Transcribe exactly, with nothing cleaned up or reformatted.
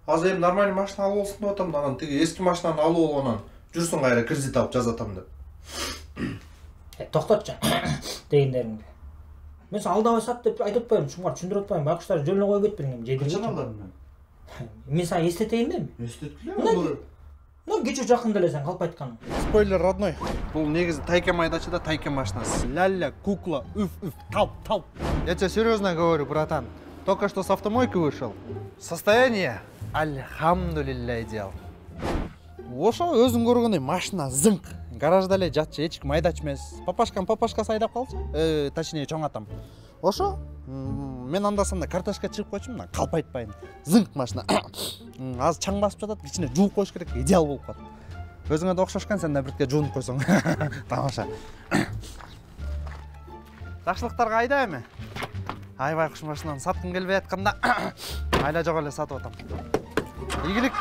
Азыр эми нормальный машина алып алсын деп атам, анан тиги эски машинаны алып алып анан жүрсүң кайра кредит алып жазатам деп. Э, токтотчу. Дегендериңди. Мен сен алдабай сат деп айтып атпаймынбы, ушуңар түшүндүрүп атпаймынбы, байкуштар жөнүнө коюп кетпеңем, жедирге. Качан алдым мен? Мен сага эстетейин деми? Эстеткиле. Ну, кече жакында эле сен калп айтканың. Спойлер, родной. Бул негизи Тайкен майдачы да Тайкен машинасы. Ля-ля, кукла, уф-уф, талп-талп. Я тебе серьезно говорю, братан. Только что с автомойки вышел. Состояние альхамдулилля идеал. Ошо өзүң көргөндөй машина зыңк. Гаражда эле жатчы, эч ким айдачу эмес. Папашкам папашкасы айдап калчу. Э, точнее, чоң атам. Ошо мен анда-санда картошка чыгып койчумун, калп айтпайм. Зыңк машина. Азыр чаң басып жатат, ичине жууп коюш керек, идеал болуп калат. Өзүңө да окшошкан, сен да бирке жуунуп койсоң. Тамаша. Жакшылыктарга айда эми. Айбай куш машинаны саткым келбей атканда айла жок эле сатып атам. Ийгилик.